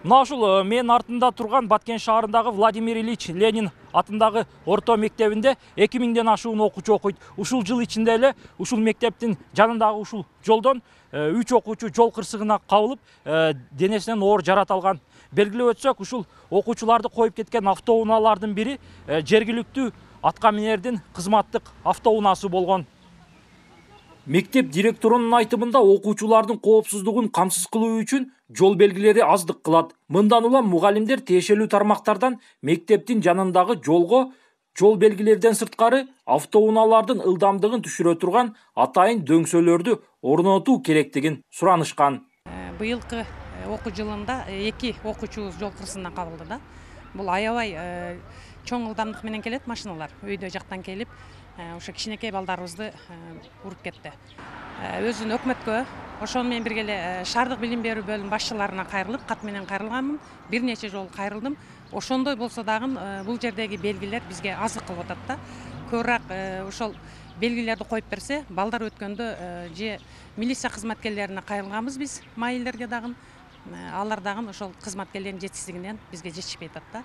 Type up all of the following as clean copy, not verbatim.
Мына ушул менин артымда турган Баткен шаарындагы Владимир Ильич Ленин атындагы орто мектебинде 2000ден ашуун окуучу окуйт. Ушул жыл ичинде эле ушул мектептин жанындагы ушул жолдон 3 окуучу жол кырсыгына кабылып, денесинен оор жарат алган. Белгилеп өтсөк, ушул окуучуларды коюп кеткен автоунаалардын бири жергиликтүү атка минердин кызматтык автоунаасы болгон. Мектеп директорунун айтымында окуучулардын коопсуздугун камсыз кылуу үчүн жол белгилери аздык кылат. Мындан улам мугалимдер тиешелүү тармактардан мектептин жанындагы жолго жол белгилерден сырткары автоунаалардын ылдамдыгын түшүрө турган атайын дөңсөлөрдү орнотуу керектигин суранышкан. Быйылкы окуу жылында 2 окуучубуз жол кырсыгына кабылды да. Бул аябай чоң ылдамдык менен келет машиналар. Өйдө жактан келип, ошо кичинекей балдарыбызды уруп кетти. Өзүн өкмөткө, ошону менен бирге эле шаардык билим берүү бөлүм башчыларына кайрылып, кат менен кайрылганмын. Бир нече жолу кайрылдым. Ошондой болсо дагы бул жердеги белгилер бизге азык кылып атат да. Көбүрөөк ошол белгилерди коюп берсе, балдар өткөндө же милиция кызматкерлерине кайрылганбыз биз, майылдерге дагы. Алар дагы ошол кызматкерлердин жетишсиздигинен бизге жетишпей атат да.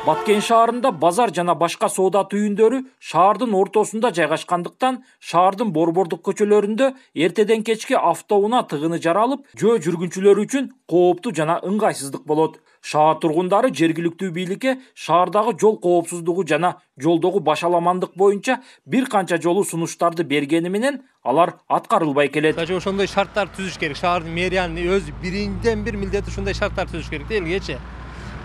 Баткен шаарында базар жана башка соода түйүндөрү шаардын ортосунда жайгашкандыктан, шаардын борбордук көчөлөрүндө эртеден кечке автоунаа тыгыны жаралып, жөө жүргүнчүлөр үчүн кооптуу жана ыңгайсыздык болот. Шаар тургундары жергиликтүү бийликке шаардагы жол коопсуздугу жана жолдогу башаламандык боюнча бир канча жолу сунуштарды бергени менен алар аткарылбай келет. Ошондой шарттар түзүш керек. Шаардын мэриянын өз биринден бир милдети ушундай шарттар түзүш керек да элгечи.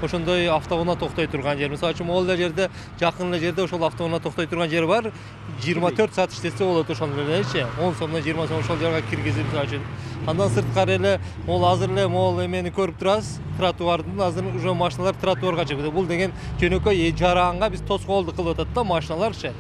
Ошондой автоунаа токтой турган жер. Мисалы үчүн могул эле жерде, жакын эле жерде ошол автоунаа токтой турган жер бар. 24 саат иштесе болот ошондо элечи. 10 сомдон 20 сом ошол жерге киргизип, мисалы үчүн. Андан сырткары эле могул азыр эле могул эмени көрүп турасыз. Тротуардын азыр уже машиналар тротуарга чыгып. Бул деген жөнөкөй жараганга биз тоскоолдук кылып атат да машиналарчы.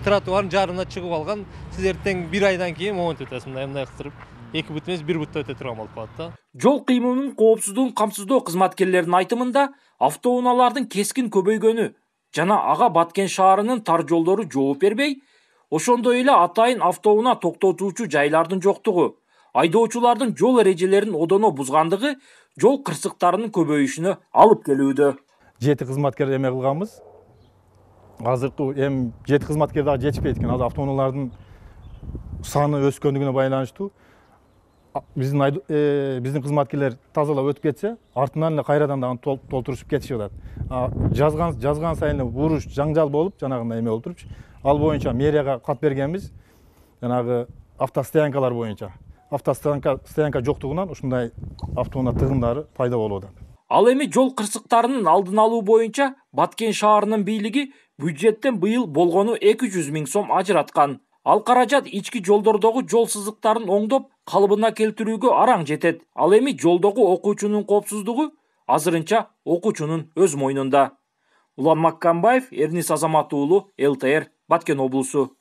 Тротуардын жарына чыгып алган, сиз эртең 1 айдан кийин момент өтөсүз, мындай кылтырып. 2 бут эмес 1 бутта өтө турган болуп калат да. Жол кыймылынын коопсуздугун камсыздоо кызматкерлеринин айтымында, автоунаалардын кескин көбөйгөнү жана ага Баткен шаарынын тар жолдору жооп бербей, ошондой эле атайын автоунаа токтотуучу жайлардын жоктугу, айдоочулардын жол эрежелерин одоно бузгандыгы жол кырсыктарынын көбөйүшүнө алып келүүдө. 7 кызматкер эме кылганбыз. Азыркы 7 кызматкер дагы жетишпейт экен. Азыр автоунаалардын саны өскөндүгүнө байланыштуу. Биздин кызматкерлер тазалап өтүп кетсе, артынан эле кайрадан дагы толтурушуп кетишип атат. Жазган сайын буруш, жаңжал болуп, жанагындай эме болуп турчу. Ал боюнча мэрияга кат бергенбиз. Жанагы автостоянкалар боюнча. Автостоянка жоктугунан ушундай автоунаа тыгындары пайда болуп атат. Ал эми жол кырсыктарынын алдын алуу боюнча Баткен шаарынын бийлиги бюджеттен быйыл болгону 200 000 сом ажыраткан. Ал каражат ички жолдордогу жол сызыктарын оңдоп, калыбына келтирүүгө араң жетет. Ал эми жолдогу окуучунун коопсуздугу азырынча окуучунун өз мойнунда. Улан Маккамбаев, Эрнис Азамат уулу, ЛТР, Баткен облусу.